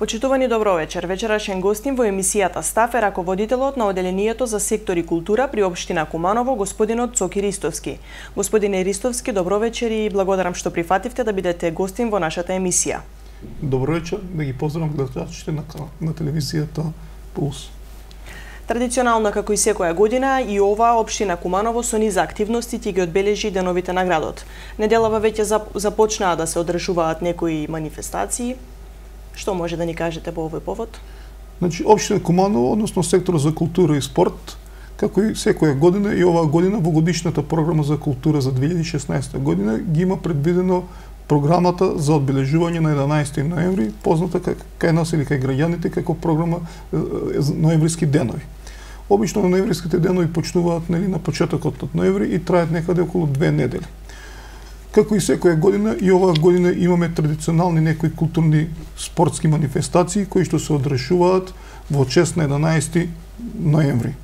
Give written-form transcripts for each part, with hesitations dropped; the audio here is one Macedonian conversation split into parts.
Почитувани добро вечер. Вечерашен гостин во емисијата Став е раководителот на Оделението за сектори култура при општина Куманово, господинот Цоки Ристовски. Господине Ристовски, добро вечер и благодарам што прифативте да бидете гостин во нашата емисија. Добро вечер, да ги поздравам гледачите на телевизијата Пулс. Традиционално, како и секоја година, и ова општина Куманово со низа активности ќе ги одбележи деновите на градот. Неделава веќе започнаа да се одржуваат некои манифестации. Што може да ни кажете по овој повод? Значи, општина Куманово, односно секторот за култура и спорт, како и секоја година и оваа година во годишната програма за култура за 2016 година ги има предвидено програмата за одбележување на 11 ноември, позната кај нас или кај граѓаните како програма ноемвриски денови. Обично ноемвриските денови почнуваат на почетокот од ноември и траат некаде околу 2 недели. Како и секоја година, и оваа година имаме традиционални некои културни спортски манифестации кои што се одржуваат во чест на 11 ноември.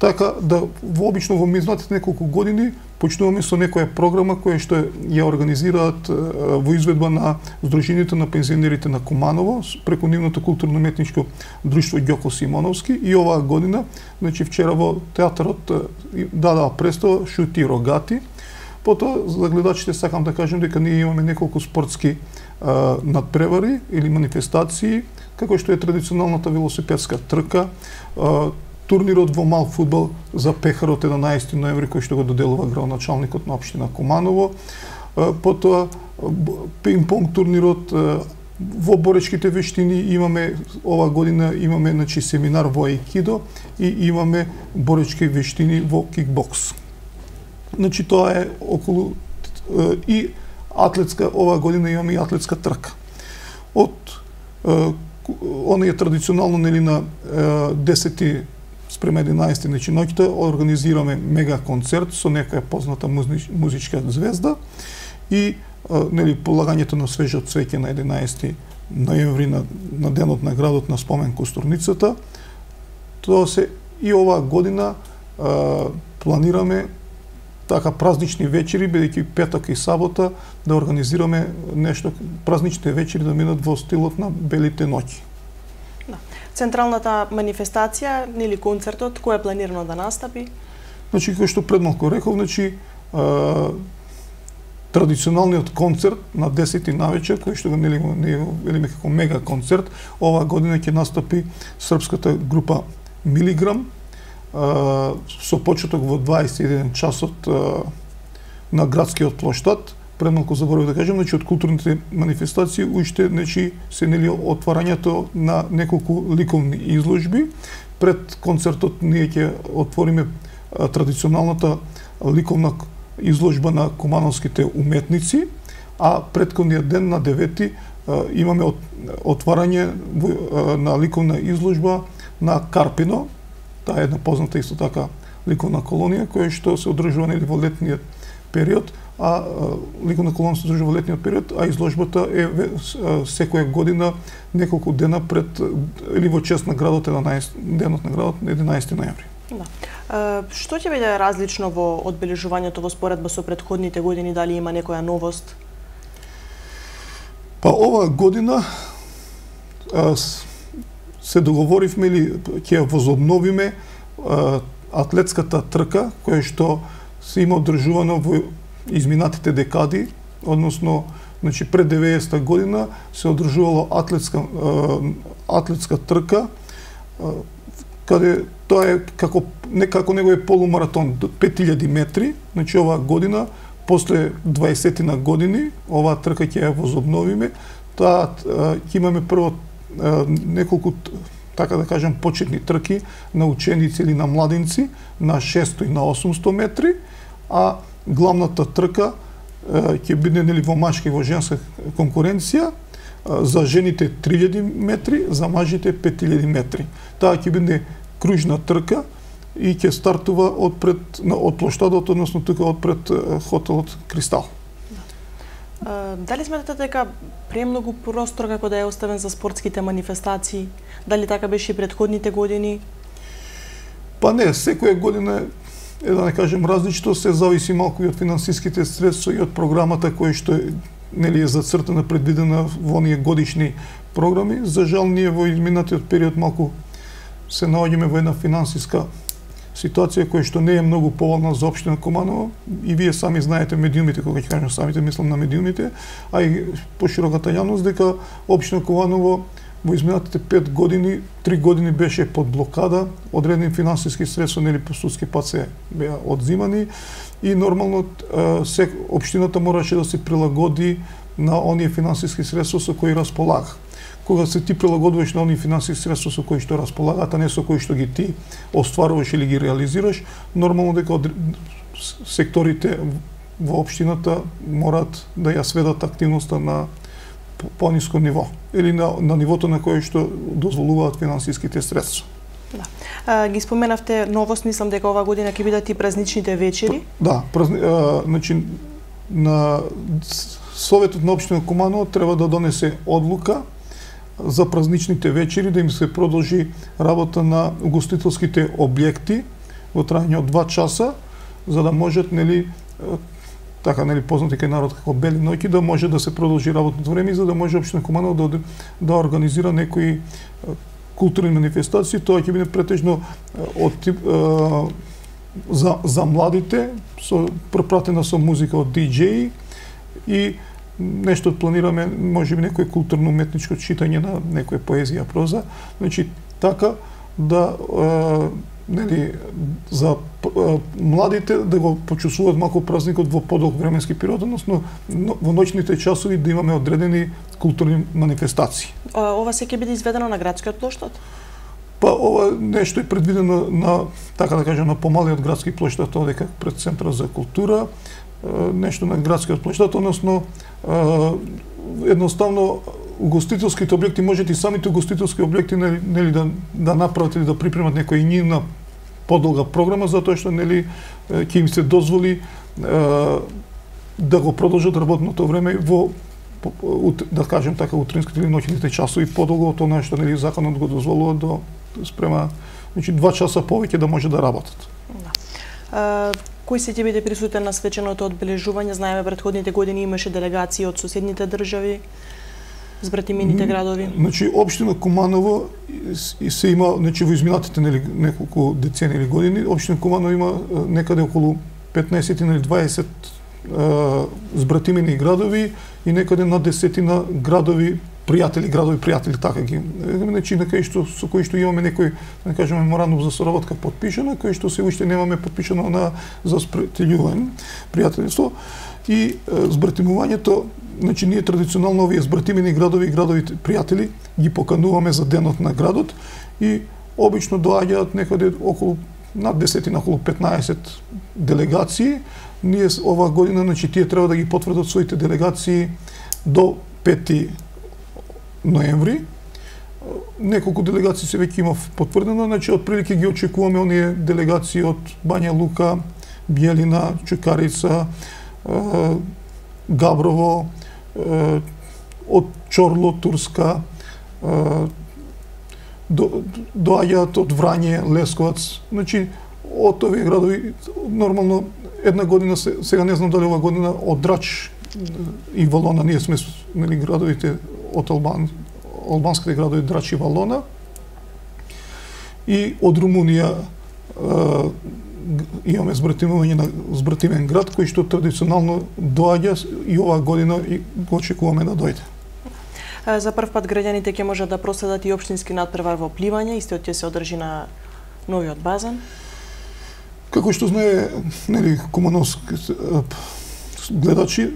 Така да вообично во минатите неколку години почнуваме со некоја програма која што ја организираат во изведба на Сдруженијето на пензионерите на Куманово преку нивното културно-уметничко друштво Ѓоко Симоновски, и оваа година, значи вчера во театарот дадаа представа Шути рогати. Потоа за гледачите сакам да кажам дека ние имаме неколку спортски надпревари или манифестации, како што е традиционалната велосипедска трка, турнирот во мал фудбал за пехарот 11 ноември кој што го доделува градоначалникот на општина Куманово, потоа пинг-понг турнирот во боречките вештини имаме ова година значи семинар во аикидо и имаме боречки вештини во кикбокс. Значи тоа е околу и атлетска, оваа година имаме и атлетска трка. Од оние традиционално на 10 спрема 11 значи ноќта организираме мега концерт со некоја позната музичка звезда и полагањето на свежо цвеќе на 11 ноември на денот на градот на спомен костурницата. Тоа се и оваа година планираме така празнични вечери, бидејќи петок и сабота да организираме нешто, празничните вечери да минат во стилот на белите ноќи. Да. Централната манифестација или концертот, кој е планирано да настапи? Значи, кој што пред малку реков, значи традиционалниот концерт на 10 навечер, кој што го велиме како мега концерт, оваа година ќе настапи српската група Милиграм, со почеток во 21 часот на градскиот плоштад. Пред малку заборавив да кажам, значи од културните манифестации уште се отварањето на неколку ликовни изложби. Пред концертот ние ќе отвориме традиционалната ликовна изложба на кумановските уметници, а претходниот ден на 9 имаме отварање на ликовна изложба на Карпино. Таа е една позната исто така ликовна колонија која што се одржува во летниот период, а ликовна колонија се одржува во летниот период, а изложбата е секоја година неколку дена пред или во чест на градот денот на градот на 11 ноември. Да. Што ќе биде различно во одбележувањето во споредба со претходните години, дали има некоја новост? Па оваа година се договоривме или ќе возобновиме атлетската трка која што се има одржувано во изминатите декади, односно значи пред 90-та година се одржувало атлетска трка, каде тоа е како неговиот полумаратон до 5000 метри, значи оваа година после 20 на години оваа трка ќе ја возобновиме. Таа ќе имаме прво неколку, така да кажам, почетни трки на ученици или на младинци на 600 и на 800 метри, а главната трка ќе биде во машка и во женска конкуренција, за жените 3000 метри, за мажите 5000 метри. Таа ќе биде кружна трка и ќе стартува од плоштадот, односно тука одпред хотелот Кристал. Дали сметате дека премногу простор како да е оставен за спортските манифестации? Дали така беше и претходните години? Па не, секоја година да не кажем различно, се зависи малку и од финансиските средства и од програмата која што нели е зацртана, предвидена во оние годишни програми. За жал ние во изминатиот период малку се наоѓаме во една финансиска ситуација која што не е многу поволна за општина Куманово, и вие сами знаете, медиумите, кога ќе кажам самите, мислам на медиумите, а и пошироката јавност, дека општина Куманово во изминатите 5 години, 3 години беше под блокада, одредени финансиски средства, нели по судски пат се беа одзимани, и нормално општината мораше да се прилагоди на оние финансиски средства со кои располага. Кога се ти прилагодуваш на оние финансиски средства со кои што располагаат, а не со кои што ги ти остваруваш или ги реализираш, нормално дека секторите во општината морат да ја сведат активноста на пониско ниво или на нивото на кое што дозволуваат финансиските средства. Да. Ги споменавте новост, мислам дека оваа година ќе бидат и празничните вечери. Да, значи на Советот на општина Куманово треба да донесе одлука за празничните вечери, да им се продолжи работа на угостителските објекти во трајање од 2 часа, за да можат, нели, така, нели, познати кај народ како бели ноќи, да може да се продолжи работното време, за да може општина Куманово да организира некои културни манифестации. Тоа ќе биде претежно од тип за младите, пропратена со музика од диџеи, и нешто планираме, можеби некој културно-уметничко читање на некоја поезија, проза, значи така да нели за младите да го почувствуваат малку празникот во подолг временски период, односно во ноќните часови да имаме одредени културни манифестации. Ова се ќе биде изведено на градскиот плоштад? Па ова нешто е предвидено на, така да кажем, на помалиот градски плоштад, одека пред Центарот за култура, нешто на градскиот плоштад, односно едноставно угостителските објекти, можете и самите угостителски објекти, нели да направат или да припремат некоја нивна подолга програма, затоа што, нели, ќе им се дозволи да го продолжат работното време во, да кажем така, утринските или ноќните часови подолго од тоа што, нели, законот го дозволува до спрема, значи 2 часа повеќе да може да работат. Да. Кој се ќе биде присутен на свеченото одбележување? Знаеме, претходните години имаше делегации од соседните држави, збратимините градови. Значи, општина Куманово се има, значи, во изминатите, нели, неколку децени или години, општина Куманово има некаде околу 15 или 20 збратимини градови и некаде на 10 градови пријатели, така ги. Значи, на кај што со кои што имаме некој, да кажеме, меморандум за соработка подпишана, кој што се уште немаме подпишано за спретелјување, пријателство, и збратимувањето. Значи, ние традиционално овие збратимени градови и градовите пријатели ги покануваме за денот на градот и обично доаѓаат некаде околу над 10, околу 15 делегации. Ние оваа година, значи, тие треба да ги потврдат своите делегации до 5 ноември. Неколку делегации се веќе има потврдено, значи отприлike ги очекуваме оние делегации од Бања Лука, Биелина, Чукарица, Габрово, од Чорло, Турска, доаѓаат од Врање, Лесковац. Значи, од овие градови, нормално, една година, сега не знам дали ова година, од Драч и Валона, ние сме, нели, градовите од албанските градови Драч и Валона, и од Румунија имаме збратимен град кој што традиционално доаѓа и оваа година и го очекуваме да дојде. За прв пат граѓаните ќе можат да проследат и општински надпревар во пливање, истиот ќе се одржи на новиот базен. Како што знае, нели, кумановски гледачи,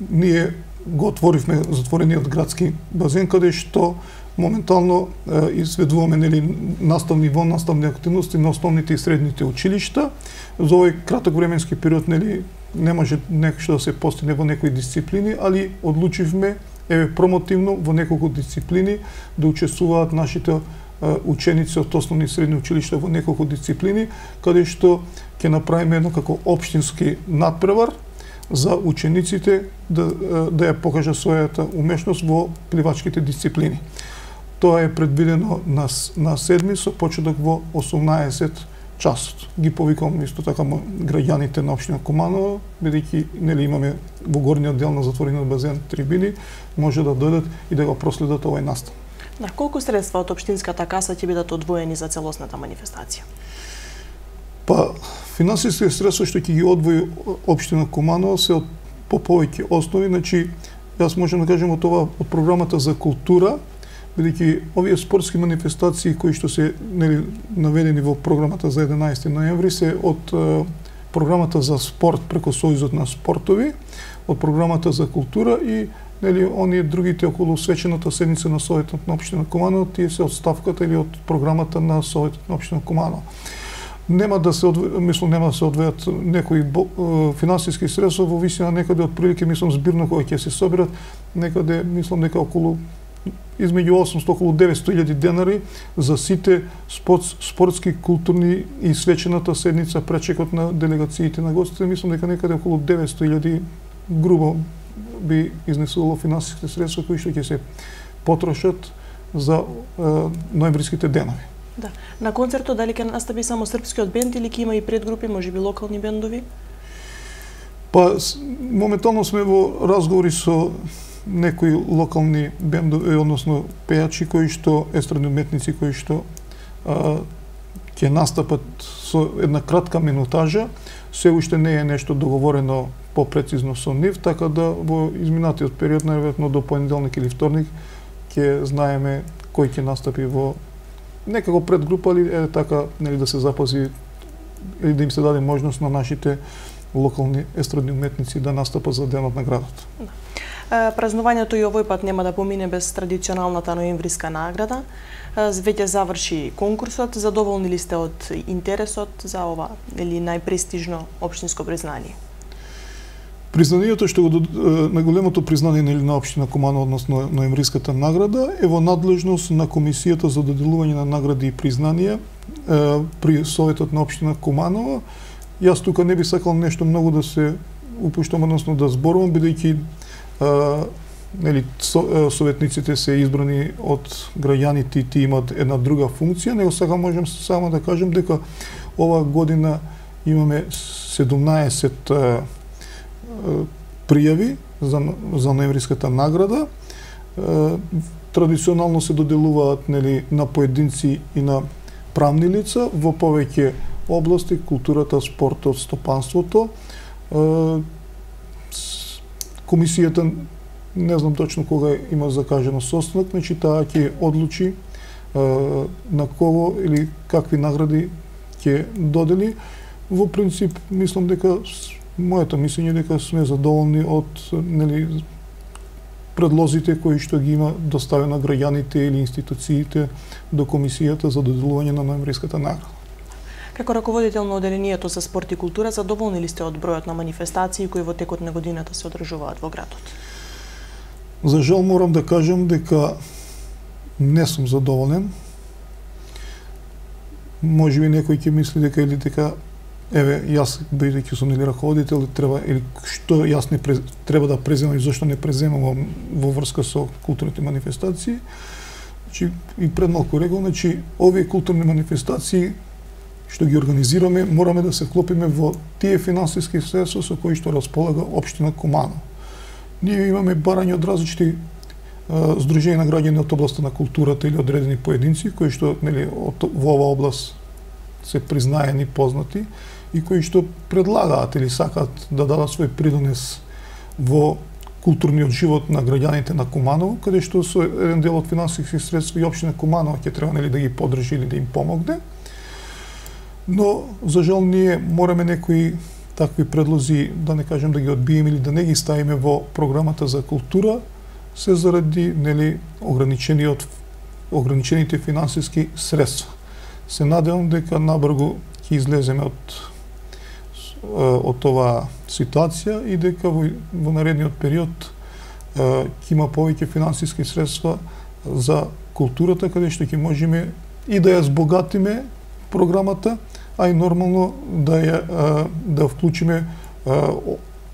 ние го отворивме затворениот градски базен, каде што моментално изведуваме, нели, наставни активности на основните и средните училишта. За овој краток временски период, нели, не може нешто да се постигне во некои дисциплини, али одлучивме промотивно во неколку дисциплини да учествуваат нашите ученици од основни и средни училишта во неколку дисциплини, каде што ќе направиме едно како општински надпревар за учениците да ја покажа својата умешност во пливачките дисциплини. Тоа е предвидено на 7 со почеток во 18 часот. Ги повикам исто така граѓаните на општина Куманово, бидејќи нели имаме во горниот дел на затворениот базен трибини, може да дојдат и да го проследат овој настан. На колку средства од општинската каса ќе бидат одвоени за целосната манифестација? Па, финансиски средства што ќе ги одвои општина Куманово се од по повеќе основи, значи јас можам да кажам од програмата за култура, бидејќи овие спортски манифестации кои што се нели наведени во програмата за 11 ноември се од програмата за спорт преку Сојузот на спортови, од програмата за култура и нели оние другите околу свечената седница на Советот на општина Куманово, тие се од ставката или од програмата на Советот на општина Куманово. Нема да се одвојат некои финансиски средства во висина некаде од прилики, мислам збирно кога ќе се соберат некаде, мислам дека околу измеѓу 800 околу 900.000 денари за сите спортски, културни и свечената седница, пречекот на делегациите на гостите, мислам дека некаде околу 900.000 грубо би изнесувало финансиски средства кои што ќе се потрошат за ноемвриските денови. Да. На концертот дали ќе настапи само српскиот бенд или ќе има и предгрупи, можеби локални бендови? Па моментално сме во разговори со некои локални бендови, односно пејачи кои што естрадни уметници кои што ќе настапат со една кратка минутажа. Се уште не е нешто договорено попрецизно со нив, така да во изминатиот период, најверојатно до понеделник или вторник, ќе знаеме кој ќе настапи во некако предгрупа или така нели да се запази или да им се даде можност на нашите локални естрадни уметници да настапат за денот на градот. Да. Празнувањето и овој пат нема да помине без традиционалната ноемвриска награда. Веќе заврши конкурсот, задоволни ли сте од интересот за ова или најпрестижно општинско признание? Признанието што на големото признание на општина Куманово, односно ноемвриската награда, е во надлежност на Комисијата за доделување на награди и признанија при Советот на општина Куманово. Јас тука не би сакал нешто многу да се упуштам, односно да зборувам, бидејќи нели советниците се избрани од граѓаните и тие имаат една друга функција, него сега можам само да кажам дека оваа година имаме 17 пријави за ноемвриската награда. Традиционално се доделуваат нели на поединци и на правни лица во повеќе области: културата, спортот, стопанството. Комисијата не знам точно кога има закажено состанок, значи таа ќе одлучи на кого или какви награди ќе додели. Во принцип мислам дека моето мислење дека сме задоволни од нели предлозите кои што ги има доставено граѓаните или институциите до Комисијата за доделување на ноемвриската награда. Како раководител на одделението за спорт и култура, задоволни ли сте од бројот на манифестации кои во текот на годината се одржуваат во градот? За жал морам да кажам дека не сум задоволен. Можеби некој ќе мисли дека или дека еве јас бидејќи сум или раководител треба или што јас не треба да преземам и зашто не преземам во врска со културните манифестации. Значи и пред малку рекол, значи овие културни манифестации што ги организираме, мораме да се вклопиме во тие финансиски средства со кои што располага општина Куманово. Ние имаме барање од различни здруженија на граѓани од областа на културата или одредени поединци кои што нели во оваа област се признаени, познати и кои што предлагаат или сакаат да дадат свој придонес во културниот живот на граѓаните на Куманово, каде што со еден дел од финансиски средства и општина Куманово ќе треба нели да ги поддржи или да им помогне. Но за жал ние мораме некои такви предлози, да не кажем да ги одбиеме или да не ги ставиме во програмата за култура, се заради нели ограничените финансиски средства. Се надевам дека набрзо ќе излеземе од оваа ситуација и дека во наредниот период ќе има повеќе финансиски средства за културата, каде што ќе можеме и да ја збогатиме програмата, а и нормално да вклучиме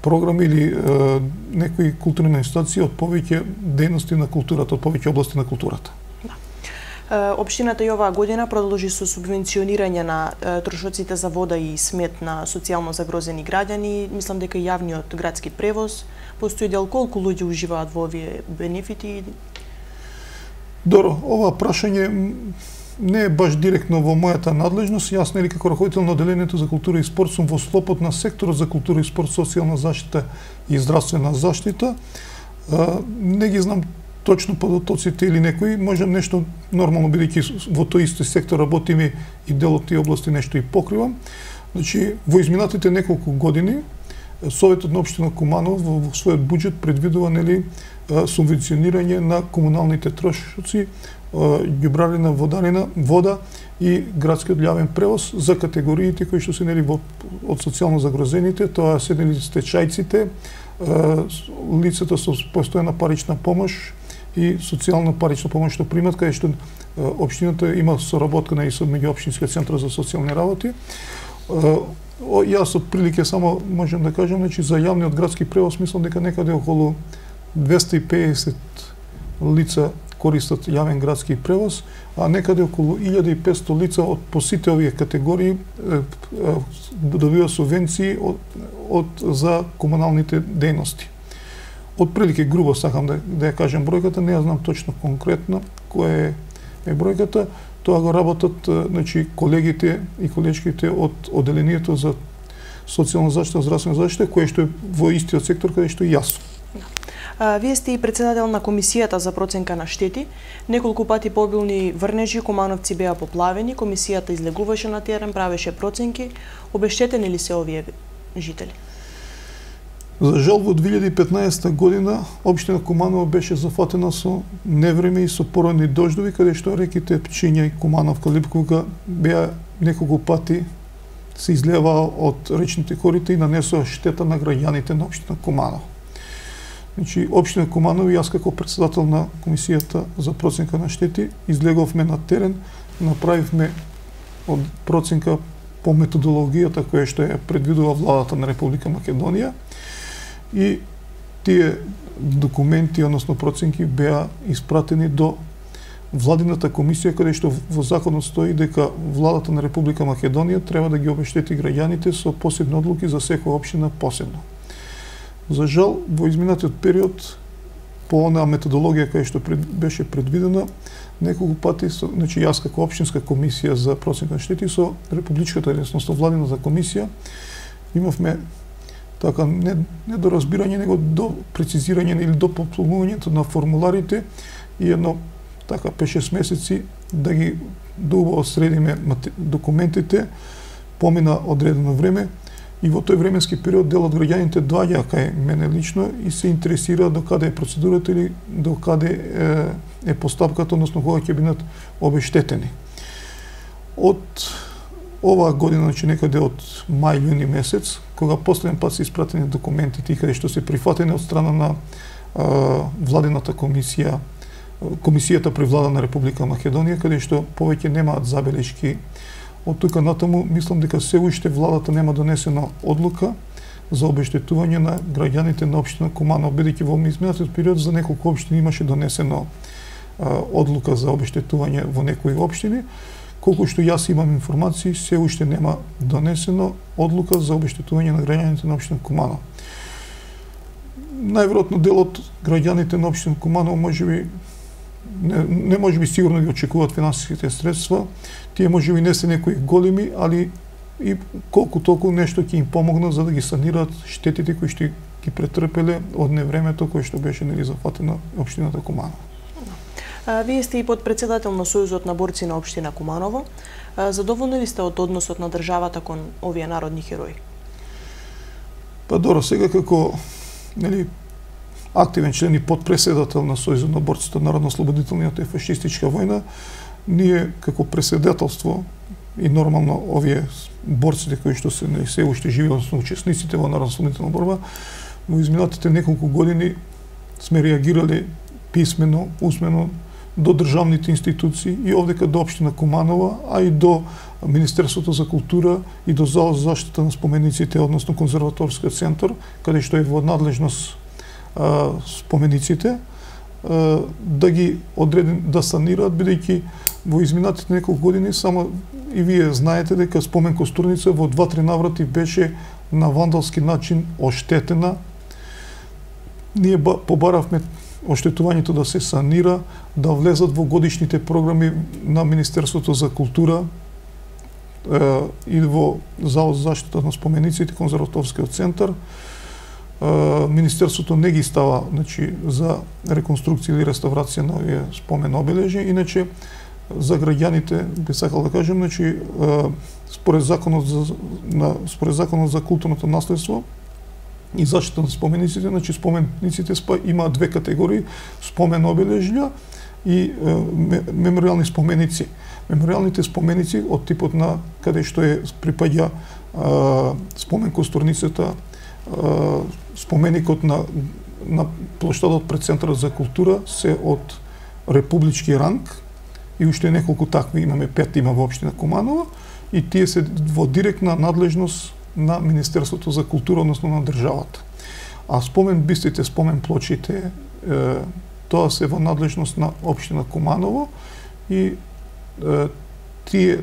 програми или некои културни манифестации од повеќе дејности на културата, од повеќе области на културата. Општината и оваа година продолжи со субвенционирање на трошоците за вода и смет на социјално загрозени граѓани. Мислам дека јавниот градски превоз постои дел. Колку луѓе уживаат во овие бенефити? Добро, ова прашање не е баш директно во мојата надлежност. Јас нели како раководител на одделението за култура и спорт сум во склопот на секторот за култура и спорт, социјална заштита и здравствена заштита. Не ги знам точно податоците или некои, може нешто нормално бидејќи во тој исти сектор работиме и дел од тие области нешто и покривам. Значи, во изминатите неколку години Советот на општина Куманово во својот буџет предвидува нели субвенционирање на комуналните трошоци, ѓубрарина, вода и градскиот јавен превоз за категориите кои што се нели од социјално загрозените, тоа се нели стечајците, лицата со постојана парична помош и социјална парична помош што примат, каде што општината има соработка со меѓуопштинскиот центар за социјални работи. Јас од прилике само можам да кажам, значи за јавниот градски превоз мислам дека некаде околу 250 лица користат јавен градски превоз, а некаде околу 1500 лица од по сите овие категории добива субвенции за комуналните дејности. Од прилике грубо сакам да ја кажам бројката, не ја знам точно конкретно која е бројката. Тоа го работат значи колегите и колечките од одделението за социјална заштита, здравствена заштита, кое што е во истиот сектор каде што и јас. Вие сте и председател на комисијата за проценка на штети. Неколку пати по обилни врнежи Кумановци беа поплавени, комисијата излегуваше на терен, правеше проценки. Обештетени ли се овие жители? За жал во 2015 година општина Куманово беше зафатена со невреме и со породни дождови, каде што реките Пчиња и Кумановка, Липковка беа неколку пати се излеваа од речните корита и нанесоа штета на граѓаните на општина Куманово. Значи, општина Куманово и јас како председател на комисијата за проценка на штети излеговме на терен, направивме од проценка по методологијата која што ја предвидува владата на Република Македонија и тие документи, односно проценки беа испратени до владината комисија, каде што во законот стои дека владата на Република Македонија треба да ги обештети граѓаните со посебни одлуки за секоја општина посебно. За жал, во изминатиот период, по онаа методологија која што беше предвидена, неколку пати, значи јас како општинска комисија за проценка на штети со републичката, односно владината комисија, имавме така не до разбирање, него до прецизирање или до попълнувањето на формуларите и едно така 5-6 месеци да ги осредиме документите, помина одредено време и во тој временски период дел од граѓаните доаѓаа кај мене лично и се интересира до каде е процедурата или до каде е постапката, односно кога ќе бидат обештетени. Од оваа година, значи некаде од мај-јуни месец, кога последен пат се испратени документите и каде што се прифатени од страна на владината комисија, комисијата при влада на Република Македонија, каде што повеќе немаат забелешки. Од тука натаму мислам дека се уште владата нема донесена одлука за обештетување на граѓаните на општина Куманово, бидејќи во изминатиот период за неколку општини имаше донесено одлука за обештетување во некои општини. Колку што јас имам информации, се уште нема донесено одлука за обештетување на граѓаните на општина Куманово. Најверојатно дел од граѓаните на општина Куманово можеби не можеби сигурно ги очекуваат финансиските средства. Тие можеби не се некои големи, али и колку толку нешто ќе им помогнат за да ги санираат штетите кои што ги претрпеле од невремето кој што беше нели зафатена општината Куманово. Вие сте и подпредседател на Сојузот на борци на општина Куманово. Задоволни ли сте од односот на државата кон овие народни херои? Па добро, сега како нели активен член и подпредседател на Сојузот на борците на народно-ослободителниот и фашистичка војна, ние како председателство и нормално овие борците кои што се уште живи, односно учесниците во народно-ослободителна борба, во изминатите неколку години сме реагирали писмено, усмено до државните институции и овдека до општина Куманово, а и до Министерството за култура и до Завод за заштита на спомениците, односно конзерваторскиот центар, каде што е во надлежност спомениците, да ги одреден да санираат, бидејќи во изминатите неколку години, само и вие знаете дека спомен костурница во 2-3 наврати беше на вандалски начин оштетена. Ние побаравме оштетувањето да се санира, да влезат во годишните програми на Министерството за култура и во Завод за заштита на спомениците, Конзерваторскиот центар. Министерството не ги става, значи, за реконструкција или реставрација на овие спомен обележи. Иначе, за граѓаните, би сакал да кажем, значи, според законот за културното наследство и заштита на спомениците, значи спомениците имаат две категории: спомен обележја и мемориални споменици. Мемориалните споменици од типот на каде што припаѓа спомен костурницата, споменикот на плоштадот пред Центарот за култура се од републички ранг и уште неколку такви имаме, 5 има во општина Куманово, и тие се во директна надлежност на Министерството за култура, односно на државата. А спомен бистите, спомен плочите, тоа се во надлежност на општина Куманово и тие,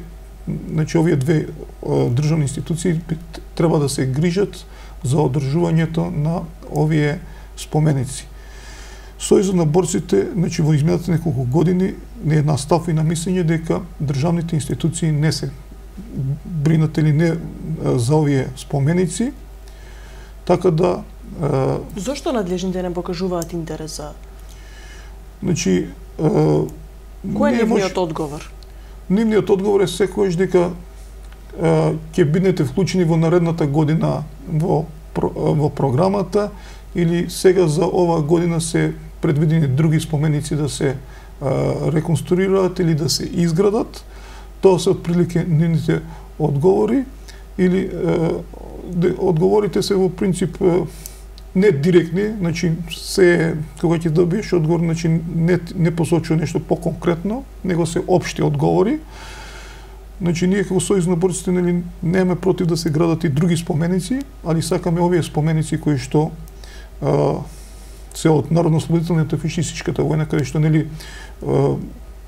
значи овие две државни институции треба да се грижат за одржувањето на овие споменици. Сојузот на борците, значи во изминатите неколку години не е на став и на мислење дека државните институции не се бринат или не за овие споменици, така да... Зошто надлежните не покажуваат интерес за... Значи... Кој е нивниот одговор? Нивниот одговор е секојаш дека ќе бидете вклучени во наредната година во програмата, или сега за ова година се предвидени други споменици да се реконструираат или да се изградат. Тоа се отприлике нивните одговори, или одговорите се во принцип не директни, значи се кога ќе добиеш одговор, значи не посочува нешто поконкретно, него се општи одговори. Значи ние како Сојуз на борците немаме против да се градат и други споменици, али сакаме овие споменици кои што се од народно-ослободителната фашистичката војна, каде што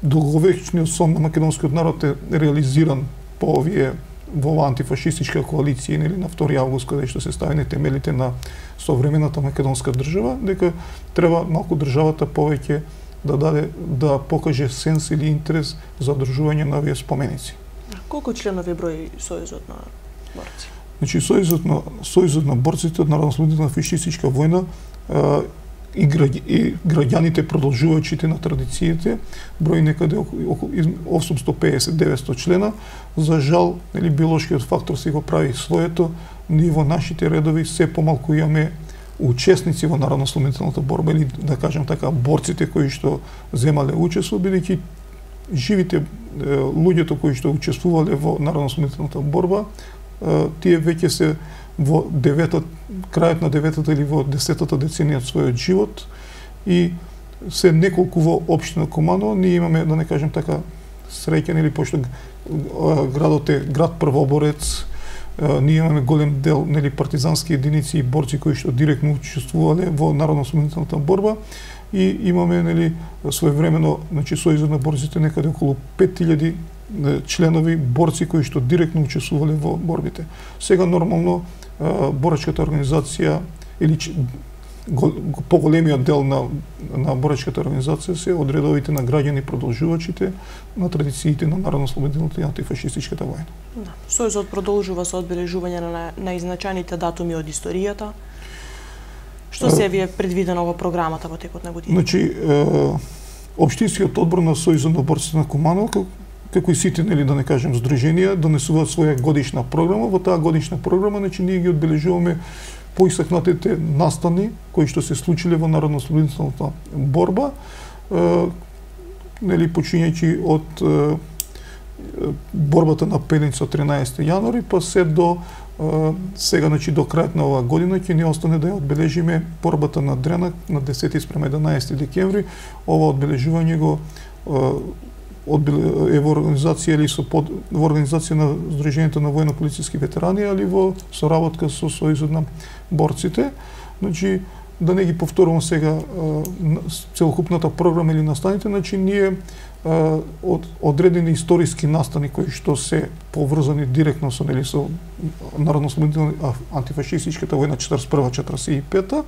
долговечниот сон на македонскиот народ е реализиран по овие во антифашистичка коалиција, на 2 август, каде што се ставени темелите на современата македонска држава, дека треба малку државата повеќе да покаже сенс или интерес за одржување на овие споменици. Колку членови брои Сојузот на борци? Значи Сојузот на борците од народно-ослободителна фашистичка војна и граѓаните продолжувачите на традициите брои некаде околу 850-900 члена. За жал, биолошкиот фактор си го прави своето. Ние во нашите редови се помалку имаме учесници во народно-ослободителната борба, или да кажем така, борците кои што земале учество, бидејќи живите луѓето кои што учествувале во народно-ослободителната борба, тие веќе се во крајот на 9-та или во 10-та деценија од својот живот, и се неколку во општина Куманово. Ние имаме, да не кажем така, среќен, или пошто градот е град првоборец, ние имаме голем дел партизански единици и борци кои што директно учествувале во народно-ослободителната борба, и имаме своевремено, значи Сојузот на борците некаде околу 5000 членови борци кои што директно учествувале во борбите. Сега нормално борачката организација или поголемиот дел на борачката организација се од редовите на граѓани продолжувачите на традициите на народно-ослободителната и антифашистичката војна. Да. Сојузот продолжува со одбележување на наизначаните датуми од историјата. Што се ви е предвидено во програмата во текот на година? Значи, општинскиот одбор на Сојузот на борците на Куманово, како и сите, да не кажем, здруженија, донесуваат своја годишна програма. Во таа годишна програма, значи, ние ги одбележуваме поисакнатите настани кои што се случиле во народно-ослободителната борба, почињајќи од борбата на Пелница 13 јануари, па се до сега, значи, до крајот на оваа година ќе ни остане да ја одбележиме борбата на Дренак на 10 спрема 11 декември. Ова одбележување го е во организација или во организација на Сдруженијето на војно-полициски ветерани, али во соработка со Сојузот на борците. Значи, да не ги повторувам сега целокупната програма или настаните, значи ние од одредени историски настани кои што се поврзани директно со народно-ослободителна антифашистичката војна 41-45,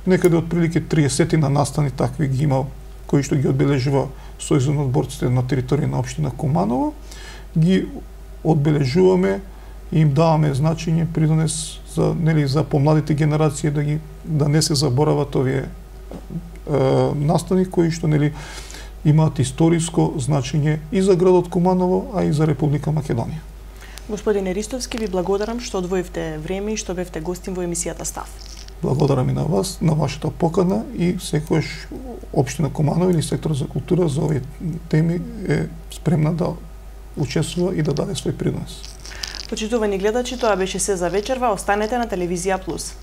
некаде од прилike 30 на настани такви ги има кои што ги одбележува Сојузот на борците на територија на општина Куманово, ги одбележуваме и им даваме значење придонес за помладите генерации да не се заборават овие настани кои што имаат историско значење и за градот Куманово, а и за Република Македонија. Господине Ристовски, ви благодарам што одвоивте време и што бевте гостин во емисијата Став. Благодарам и на вас, на вашата покана и секојаш општина Куманово или сектор за култура за овие теми е спремна да учествува и да даде свој принос. Почитувани гледачи, тоа беше се за вечерва. Останете на Телевизија Плюс.